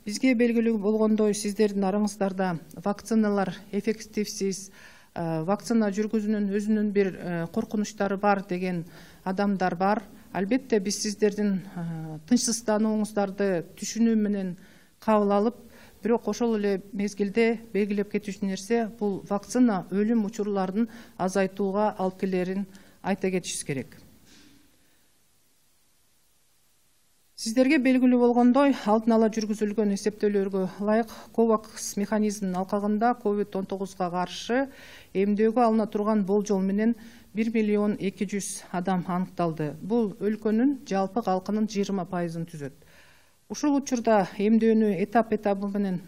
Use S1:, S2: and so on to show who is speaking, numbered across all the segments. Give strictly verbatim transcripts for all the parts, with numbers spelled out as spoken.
S1: Бизге белгилүү болгондой, сиздердин араңыздарда вакциналар эффективсиз, вакцина жүргүзүүнүн өзүнүн бир коркунучтары бар деген адамдар бар. Албетте биз сиздердин тынчсызданууңуздарды түшүнүү менен кабыл алып, бирок ошол эле мезгилде белгилеп кетүүчү нерсе бул вакцина өлүм учурларын азайтууга алып келерин айта кетишибиз керек. Сиздерге белгилүү болгондой, алдын ала жүргүзүлгөн эсептөөлөргө ылайык ковакс механизминин алкагында ковид он тогузга каршы эмдөөгө алына турган болжол менен бир миллион эки жүз адам аныкталды. Бул өлкөнүн жалпы калкынын жыйырма пайызын түзөт. Ушул учурда эмдөөнү этап-этабы менен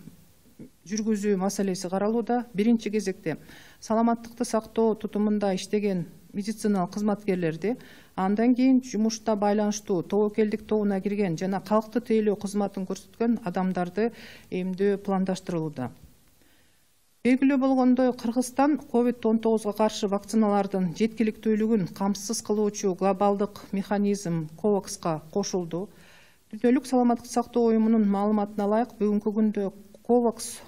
S1: жүргүзүү маселеси каралууда. Биринчи кезекте саламаттыкты сактоо тутумунда иштеген медициналык кызматкерлерди, андан кийин жумушта байланыштуу тобокелдик тобуна кирген жана калкты тейлөө кызматын көрсөткөн адамдарды эмдөө пландаштырылууда. Белгилүү болгондой, Кыргызстан ковид он тогузга каршы вакциналардын жеткиликтүүлүгүн камсыз кылуучу глобалдык механизм ковакска кошулду. Дүйнөлүк саламаттык сактоо уюмунун маалыматына ылайык, бүгүнкү күндө ковакс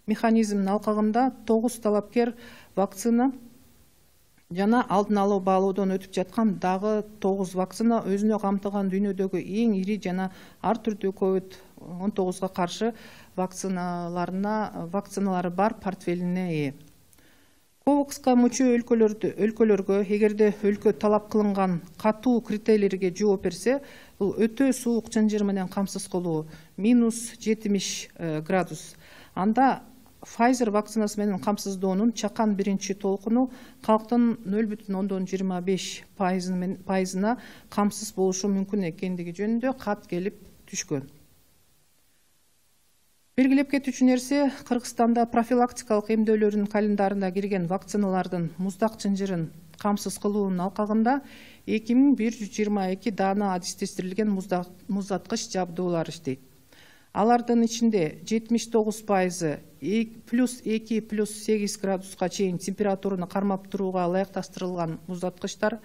S1: механизминин алкагында тогуз талапкер вакцина жана алдын алуу баалоодон өтүп жаткан дагы тогуз вакцина өзүнө камтыган дүйнөдөгү эң ири жана ар түрдүү ковид он тогузга каршы вакциналарына вакциналары бар портфелине ээ. ковакска мүчө өлкөлөрдү өлкөлөргө эгерде өлкө талап кылынган катуу критерийлерге жооп берсе, бул өтө суук чынжыр менен камсыз кылуу минус жетимиш градус. Анда Pfizer вакцинасы менен камсыздоонун чакан биринчи толкуну калктын нөл бүтүн ондон жыйырма беш пайызына камсыз болушу мүмкүн экендиги жөнүндө кат келип түшкөн. Белгилеп кетүүчү нерсе, Кыргызстанда профилактикалык эмдөөлөрдүн календарына кирген вакциналардын муздак чынжырын камсыз кылуунун алкагында эки миң бир жүз жыйырма эки даана адистештирилген муздаткыч жабдуулар иштейт. Алардын ичинде жетимиш тогуз пайызы плюс эки плюс сегиз градуска чейин температураны кармап турууга ылайыкташтырылган муздаткычтар,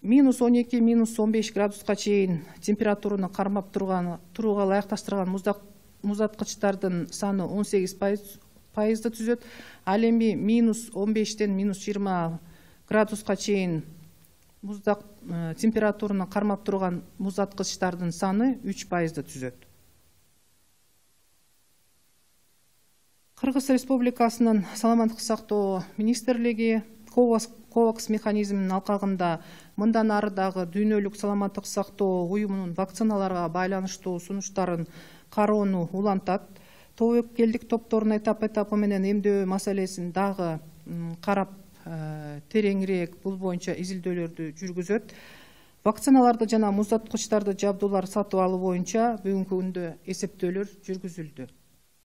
S1: минус он эки минус он беш градуска чейин температураны кармап турууга ылайыкташтырылган муздаткычтардын саны он сегиз пайызды түзөт. Ал эми минус он бештен минус жыйырма градуска чейин муздак температураны кармап турган муздаткычтардын саны үч пайызды түзөт. Кыргыз Республикасынын саламаттык сактоо министрлиги ковакс механизминин алкагында мындан ары дагы дүйнөлүк саламаттык сактоо уюмунун вакциналарга байланыштуу сунуштарын кароону улантат. Тобокелдик топторун этап-этапы менен эмдөө маселесин дагы карап, тереңирээк бул боюнча изилдөөлөрдү жүргүзөт. Вакциналарды жана муздаткычтарды жабдуулар сатып алуу боюнча бүгүнкү күндө эсептөөлөр жүргүзүлдү.